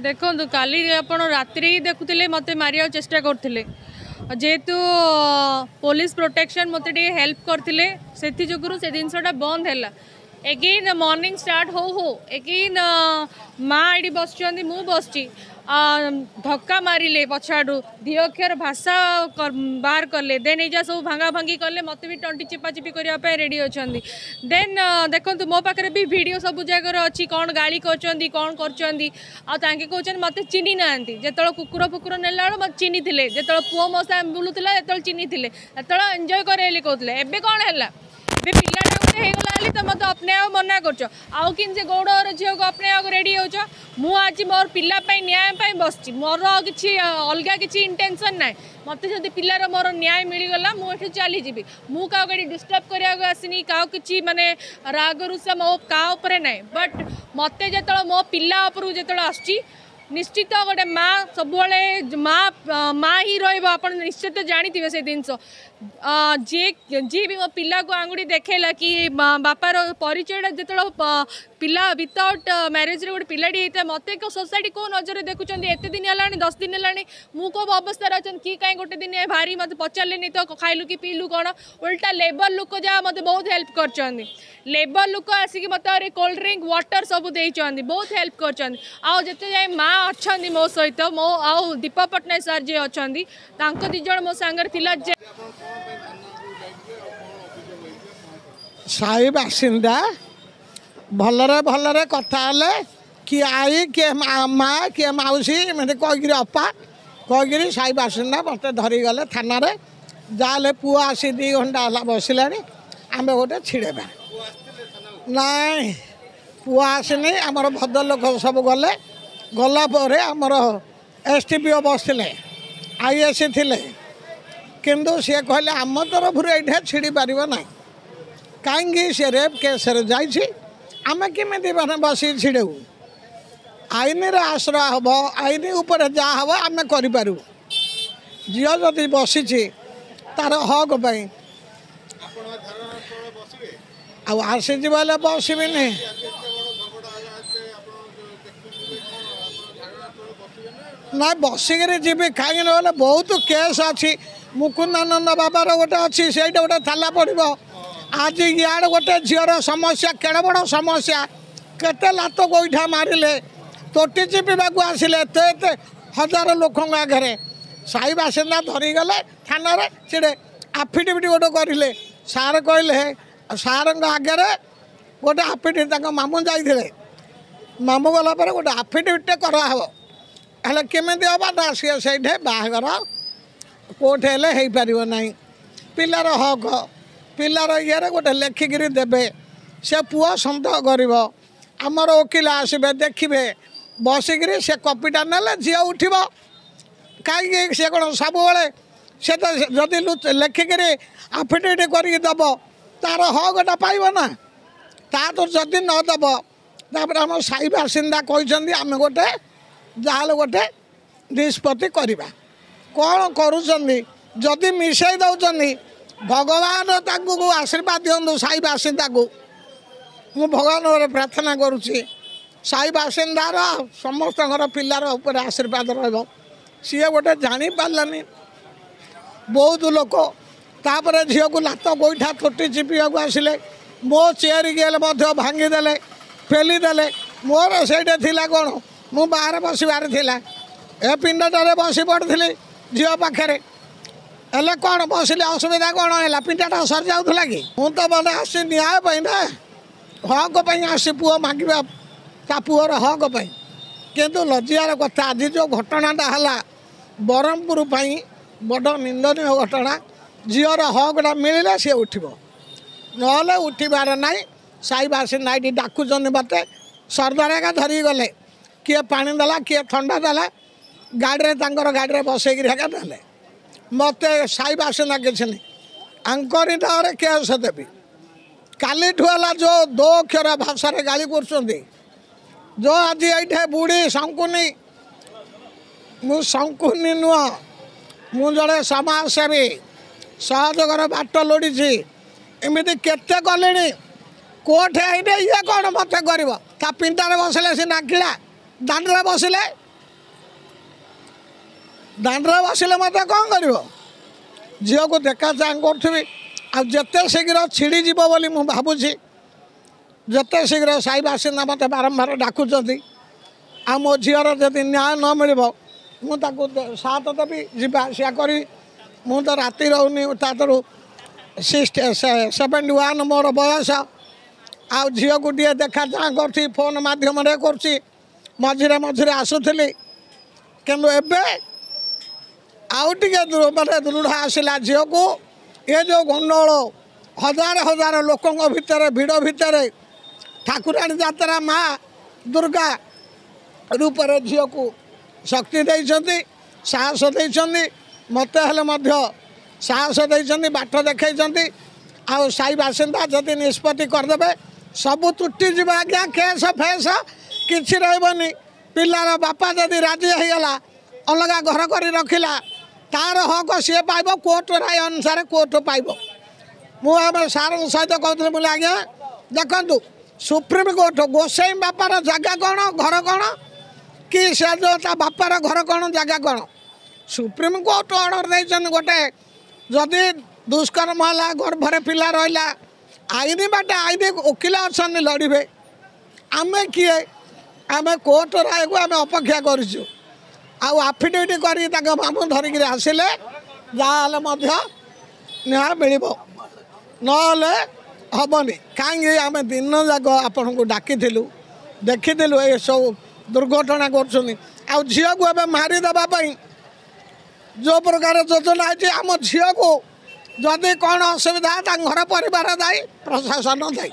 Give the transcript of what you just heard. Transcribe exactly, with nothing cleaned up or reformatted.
ଦେଖନ୍ତୁ, କାଲି ଆପଣ ରାତିରେ ହିଁ ଦେଖୁଥିଲେ, ମୋତେ ମାରିବାକୁ ଚେଷ୍ଟା କରୁଥିଲେ। ଯେହେତୁ ପୋଲିସ ପ୍ରୋଟେକ୍ସନ୍ ମୋତେ ଟିକେ ହେଲ୍ପ କରିଥିଲେ, ସେଥିଯୋଗୁଁ ସେ ଜିନିଷଟା ବନ୍ଦ ହେଲା। ଏଗେନ୍ ମର୍ଣ୍ଣିଂ ଷ୍ଟାର୍ଟ ହଉ ହଉ ଏଗେନ୍ ମା ଏଇଠି ବସିଛନ୍ତି, ମୁଁ ବସିଛି, ଧକ୍କା ମାରିଲେ, ପଛଆଡ଼ୁ ଦି ଅକ୍ଷର ଭାଷା ବାହାର କଲେ। ଦେନ୍ ଏଇ ଯାହା ସବୁ ଭାଙ୍ଗା ଭାଙ୍ଗି କଲେ, ମୋତେ ବି ତଣ୍ଟି ଚିପାଚିପି କରିବା ପାଇଁ ରେଡ଼ି ଅଛନ୍ତି। ଦେନ୍ ଦେଖନ୍ତୁ, ମୋ ପାଖରେ ବି ଭିଡ଼ିଓ ସବୁ ଜାଗାରେ ଅଛି, କ'ଣ ଗାଳି କରୁଛନ୍ତି, କ'ଣ କରୁଛନ୍ତି। ଆଉ ତାଙ୍କେ କହୁଛନ୍ତି ମୋତେ ଚିହ୍ନି ନାହାନ୍ତି। ଯେତେବେଳେ କୁକୁର ଫୁକୁର ନେଲା ବେଳୁ ମୋତେ ଚିହ୍ନିଥିଲେ, ଯେତେବେଳେ ପୁଅ ମୋ ସାଙ୍ଗେ ବୁଲୁଥିଲା ଯେତେବେଳେ ଚିହ୍ନିଥିଲେ, ସେତେବେଳେ ଏନ୍ଜୟ କରେ ବୋଲି କହୁଥିଲେ। ଏବେ କ'ଣ ହେଲା? ଏବେ ପିଲାଟା ଗୋଟେ ହେଇଗଲା ବୋଲି ତ ମୋତେ ଅପନେଇବାକୁ ମନା କରୁଛ, ଆଉ କେମିତି ସେ ଗୌଡ଼ର ଝିଅକୁ ଅପନେଇବାକୁ ରେଡ଼ି ହେଉଛ? ମୁଁ ଆଜି ମୋର ପିଲା ପାଇଁ ନ୍ୟାୟ ପାଇଁ ବସିଛି। ମୋର ଆଉ କିଛି ଅଲଗା କିଛି ଇଣ୍ଟେନସନ୍ ନାହିଁ। ମୋତେ ଯଦି ପିଲାର ମୋର ନ୍ୟାୟ ମିଳିଗଲା, ମୁଁ ଏଠୁ ଚାଲିଯିବି। ମୁଁ କାହାକୁ ଏଠି ଡିଷ୍ଟର୍ବ କରିବାକୁ ଆସିନି, କାହାକୁ କିଛି ମାନେ ରାଗ ରୁଷା ମୋ କାହା ଉପରେ ନାହିଁ। ବଟ୍ ମୋତେ ଯେତେବେଳେ ମୋ ପିଲା ଉପରକୁ ଯେତେବେଳେ ଆସୁଛି, ନିଶ୍ଚିତ ଗୋଟେ ମା ସବୁବେଳେ ମା ମା ହିଁ ରହିବ। ଆପଣ ନିଶ୍ଚିତ ଜାଣିଥିବେ ସେ ଜିନିଷ। ଯିଏ ଯିଏ ବି ମୋ ପିଲାକୁ ଆଙ୍ଗୁଠି ଦେଖେଇଲା କି ବାପାର ପରିଚୟଟା, ଯେତେବେଳେ ପିଲା ୱିଥାଉଟ୍ ମ୍ୟାରେଜରେ ଗୋଟେ ପିଲାଟି ହେଇଥାଏ, ମୋତେ ସୋସାଇଟି କେଉଁ ନଜରରେ ଦେଖୁଛନ୍ତି? ଏତେ ଦିନ ହେଲାଣି, ଦଶ ଦିନ ହେଲାଣି, ମୁଁ କେଉଁ ଅବସ୍ଥାରେ ଅଛନ୍ତି କି କାହିଁ ଗୋଟେ ଦିନ ଭାରି ମୋତେ ପଚାରିଲେନି ତ, ଖାଇଲୁ କି ପିଇଲୁ କ'ଣ? ଓଲଟା ଲେବର ଲୋକ ଯାହା ମୋତେ ବହୁତ ହେଲ୍ପ କରିଛନ୍ତି। ଲେବର ଲୋକ ଆସିକି ମୋତେ ଆହୁରି କୋଲ୍ଡ ଡ୍ରିଙ୍କ, ୱାଟର ସବୁ ଦେଇଛନ୍ତି, ବହୁତ ହେଲ୍ପ କରିଛନ୍ତି। ଆଉ ଯେତେ ଯାଏ ମା ଅଛନ୍ତି ମୋ ସହିତ, ମୋ ଆଉ ଦୀପକ ପଟ୍ଟନାୟକ ସାର୍ ଯିଏ ଅଛନ୍ତି, ତାଙ୍କ ଦୁଇ ଜଣ ମୋ ସାଙ୍ଗରେ ଥିଲା ଯେ ସାହି ବାସିନ୍ଦା ଭଲରେ ଭଲରେ କଥା ହେଲେ, କିଏ ଆଈ, କିଏ ମା, କିଏ ମାଉସୀ, ଏମିତି କହିକିରି, ଅପା କହିକିରି ସାହି ବାସିନ୍ଦା ମୋତେ ଧରିଗଲେ ଥାନାରେ। ଯାହାହେଲେ ପୁଅ ଆସି ଦୁଇ ଘଣ୍ଟା ହେଲା ବସିଲାଣି, ଆମେ ଗୋଟେ ଛିଡ଼େଇବା। ନାଇଁ, ପୁଅ ଆସିନି। ଆମର ଭଦ୍ରଲୋକ ସବୁ ଗଲେ। ଗଲା ପରେ ଆମର ଏସ୍ ଟି ପି ଓ ବସିଥିଲେ, I S C ଥିଲେ, କିନ୍ତୁ ସିଏ କହିଲେ ଆମ ତରଫରୁ ଏଇଟା ଛିଡ଼ି ପାରିବ ନାହିଁ। କାହିଁକି? ସେ ରେପ୍ କେସ୍ରେ ଯାଇଛି, ଆମେ କେମିତି ମାନେ ବସିକି ଛିଡ଼େଇବୁ? ଆଇନର ଆଶ୍ରୟ ହେବ, ଆଇନ ଉପରେ ଯାହା ହେବ ଆମେ କରିପାରିବୁ। ଝିଅ ଯଦି ବସିଛି ତାର ହକ୍ ପାଇଁ ଆଉ ଆସିଛି ବୋଇଲେ ବସିବିନି? ନାଇଁ, ବସିକିରି ଯିବି। କାହିଁକି ନହେଲେ ବହୁତ କେସ୍ ଅଛି। ମୁକୁନ୍ଦାନନ୍ଦ ବାବାର ଗୋଟେ ଅଛି, ସେଇଟା ଗୋଟେ ଥାଲା ପଡ଼ିବ। ଆଜି ଇଆଡ଼େ ଗୋଟେ ଝିଅର ସମସ୍ୟା, କେଡ଼େ ବଡ଼ ସମସ୍ୟା, କେତେ ଲାତ ଗୋଇଠା ମାରିଲେ, ତୋଟି ଚିପିବାକୁ ଆସିଲେ ଏତେ ଏତେ ହଜାର ଲୋକଙ୍କ ଆଗରେ। ସାହି ବାସିନ୍ଦା ଧରିଗଲେ ଥାନାରେ, ସେଠି ଆଫିଡେଭିଟ୍ ଗୋଟେ କରିଲେ। ସାର୍ କହିଲେ, ସାର୍ଙ୍କ ଆଗରେ ଗୋଟେ ଆଫିଡେଭିଟ୍, ତାଙ୍କ ମାମୁଁ ଯାଇଥିଲେ, ମାମୁଁ ଗଲା ପରେ ଗୋଟେ ଆଫିଡେଭିଟ୍ଟେ କରାହେବ। ହେଲେ କେମିତି ହେବ ନା, ସିଏ ସେଇଠି ବାହାଘର କୋଉଠି ହେଲେ ହେଇପାରିବ ନାହିଁ। ପିଲାର ହକ୍, ପିଲାର ଇଏରେ ଗୋଟେ ଲେଖିକିରି ଦେବେ, ସେ ପୁଅ ସନ୍ଦେହ କରିବ। ଆମର ଓକିଲ ଆସିବେ, ଦେଖିବେ ବସିକିରି, ସେ କପିଟା ନେଲେ ଝିଅ ଉଠିବ। କାହିଁକି ସେ କ'ଣ ସବୁବେଳେ ସେ ତ ଯଦି ଲେଖିକିରି ଆଫିଡେଭିଟ୍ କରିକି ଦେବ, ତାର ହକ୍ଟା ପାଇବ ନା। ତା ତ ଯଦି ନ ଦେବ, ତାପରେ ଆମ ସାହି ବାସିନ୍ଦା କହିଛନ୍ତି ଆମେ ଗୋଟେ ଯାହାହେଲେ ଗୋଟେ ନିଷ୍ପତ୍ତି କରିବା। କ'ଣ କରୁଛନ୍ତି? ଯଦି ମିଶାଇ ଦେଉଛନ୍ତି, ଭଗବାନ ତାଙ୍କୁ ଆଶୀର୍ବାଦ ଦିଅନ୍ତୁ, ସାହି ବାସିନ୍ଦାକୁ। ମୁଁ ଭଗବାନଙ୍କର ପ୍ରାର୍ଥନା କରୁଛି, ସାହି ବାସିନ୍ଦାର ସମସ୍ତଙ୍କର ପିଲାର ଉପରେ ଆଶୀର୍ବାଦ ରହିବ। ସିଏ ଗୋଟେ ଜାଣିପାରିଲାନି ବହୁତ ଲୋକ। ତାପରେ ଝିଅକୁ ଲାତ ଗୋଇଠା, ତୋଟି ଚିପିବାକୁ ଆସିଲେ, ମୋ ଚେୟାର ହେଲେ ମଧ୍ୟ ଭାଙ୍ଗିଦେଲେ, ପେଲିଦେଲେ। ମୋର ସେଇଟା ଥିଲା କ'ଣ, ମୁଁ ବାହାରେ ବସିବାର ଥିଲା, ଏ ପିଣ୍ଡଟାରେ ବସି ପଡ଼ିଥିଲି ଝିଅ ପାଖରେ। ହେଲେ କ'ଣ ବସିଲେ ଅସୁବିଧା କ'ଣ ହେଲା? ପିଣ୍ଡାଟା ସରିଯାଉଥିଲା କି? ମୁଁ ତ ମାନେ ଆସି ନ୍ୟାୟ ପାଇଁ ନା, ହକ୍ ପାଇଁ ଆସି, ପୁଅ ମାଗିବା, ତା ପୁଅର ହକ୍ ପାଇଁ। କିନ୍ତୁ ଲଜ୍ଜାର କଥା, ଆଜି ଯେଉଁ ଘଟଣାଟା ହେଲା ବ୍ରହ୍ମପୁର ପାଇଁ ବଡ଼ ନିନ୍ଦନୀୟ ଘଟଣା। ଝିଅର ହକ୍ଟା ମିଳିଲେ ସିଏ ଉଠିବ, ନହେଲେ ଉଠିବାର ନାହିଁ। ସାହି ବାସିନ୍ଦା ଏଇଠି ଡାକୁଛନ୍ତି ମୋତେ। ସର୍ଦ୍ଦାର ଏକା ଧରିକି ଗଲେ, କିଏ ପାଣି ଦେଲା, କିଏ ଥଣ୍ଡା ଦେଲା, ଗାଡ଼ିରେ ତାଙ୍କର ଗାଡ଼ିରେ ବସେଇକିରି ଏକା ନେଲେ ମୋତେ। ସାହି ବାସିନ୍ଦା କିଛି ନାହିଁ, ଆଙ୍କରି ନାଁରେ କେସ୍ ଦେବି। କାଲିଠୁ ହେଲା ଯେଉଁ ଦୋ ଅକ୍ଷର ଭାଷାରେ ଗାଳି କରୁଛନ୍ତି, ଯେଉଁ ଆଜି ଏଇଠି ବୁଢ଼ୀ ଶଙ୍କୁନି, ମୁଁ ଶଙ୍କୁନି ନୁହଁ, ମୁଁ ଜଣେ ସମାଜସେବୀ, ସହଯୋଗର ବାଟ ଲୋଡ଼ିଛି। ଏମିତି କେତେ କଲିଣି, କୋର୍ଟ ହେଇନି। ଇଏ କ'ଣ ମୋତେ କରିବ? ତା ପିଣ୍ଟାରେ ବସିଲେ ସେ ନାକିଳା, ଦାଣ୍ଡରେ ବସିଲେ ଦାଣ୍ଡରେ ବସିଲେ ମୋତେ କ'ଣ କରିବ? ଝିଅକୁ ଦେଖା ଚାହାଁ କରୁଥିବି, ଆଉ ଯେତେ ଶୀଘ୍ର ଛିଡ଼ିଯିବ ବୋଲି ମୁଁ ଭାବୁଛି। ଯେତେ ଶୀଘ୍ର ସାହି ବାସିନ୍ଦା ମୋତେ ବାରମ୍ବାର ଡାକୁଛନ୍ତି। ଆଉ ମୋ ଝିଅର ଯଦି ନ୍ୟାୟ ନ ମିଳିବ, ମୁଁ ତାକୁ ସାଥ ଦେବି, ଯିବା ଆସିବା କରିବି। ମୁଁ ତ ରାତି ରହୁନି, ତା ଦେହରୁ ସିକ୍ସଟି ସେଭେଣ୍ଟି ୱାନ୍ ମୋର ବୟସ। ଆଉ ଝିଅକୁ ଟିକେ ଦେଖା ଚାହାଁ କରୁଛି, ଫୋନ୍ ମାଧ୍ୟମରେ କରୁଛି, ମଝିରେ ମଝିରେ ଆସୁଥିଲି। କିନ୍ତୁ ଏବେ ଆଉ ଟିକେ ମାନେ ଦୃଢ଼ ଆସିଲା ଝିଅକୁ। ଏ ଯେଉଁ ଗଣ୍ଡଗୋଳ ହଜାର ହଜାର ଲୋକଙ୍କ ଭିତରେ, ଭିଡ଼ ଭିତରେ, ଠାକୁରାଣୀ ଯାତ୍ରା, ମା ଦୁର୍ଗା ରୂପରେ ଝିଅକୁ ଶକ୍ତି ଦେଇଛନ୍ତି, ସାହସ ଦେଇଛନ୍ତି। ମୋତେ ହେଲେ ମଧ୍ୟ ସାହସ ଦେଇଛନ୍ତି, ବାଟ ଦେଖାଇଛନ୍ତି। ଆଉ ସାହି ବାସିନ୍ଦା ଯଦି ନିଷ୍ପତ୍ତି କରିଦେବେ, ସବୁ ତୁଟିଯିବ ଆଜ୍ଞା, କେସ୍ ଫେସ୍ କିଛି ରହିବନି। ପିଲାର ବାପା ଯଦି ରାଜି ହେଇଗଲା, ଅଲଗା ଘର କରି ରଖିଲା, ତାର ହକ ସିଏ ପାଇବ, କୋର୍ଟ ରାୟ ଅନୁସାରେ କୋର୍ଟ ପାଇବ। ମୁଁ ଆମେ ସାର୍ଙ୍କ ସହିତ କହୁଥିଲି ବୋଲି, ଆଜ୍ଞା ଦେଖନ୍ତୁ, ସୁପ୍ରିମକୋର୍ଟ ଗୋସାଇଁ ବାପାର ଜାଗା କ'ଣ, ଘର କ'ଣ, କି ସେ ଯେଉଁ ତା ବାପାର ଘର କ'ଣ, ଜାଗା କ'ଣ? ସୁପ୍ରିମକୋର୍ଟ ଅର୍ଡ଼ର ଦେଇଛନ୍ତି, ଗୋଟେ ଯଦି ଦୁଷ୍କର୍ମ ହେଲା, ଗର୍ଭରେ ପିଲା ରହିଲା, ଆଇନ ବାଟେ ଆଇନ ଓକିଲ ଅଛନ୍ତି, ଲଢ଼ିବେ। ଆମେ କିଏ? ଆମେ କୋର୍ଟ ରାୟକୁ ଆମେ ଅପେକ୍ଷା କରିଛୁ। ଆଉ ଆଫିଡେଭିଟ୍ କରିକି ତାଙ୍କ ମାମୁଁ ଧରିକିରି ଆସିଲେ ଯାହାହେଲେ ମଧ୍ୟ ନ୍ୟାୟ ମିଳିବ, ନହେଲେ ହେବନି। କାହିଁକି ଆମେ ଦିନ ଯାକ ଆପଣଙ୍କୁ ଡାକିଥିଲୁ, ଦେଖିଥିଲୁ ଏସବୁ ଦୁର୍ଘଟଣା କରୁଛନ୍ତି। ଆଉ ଝିଅକୁ ଏବେ ମାରିଦେବା ପାଇଁ ଯେଉଁ ପ୍ରକାର ଯୋଜନା ହେଇଛି, ଆମ ଝିଅକୁ ଯଦି କ'ଣ ଅସୁବିଧା, ତାଙ୍କ ଘର ପରିବାର ଦାୟୀ, ପ୍ରଶାସନ ଦାୟୀ।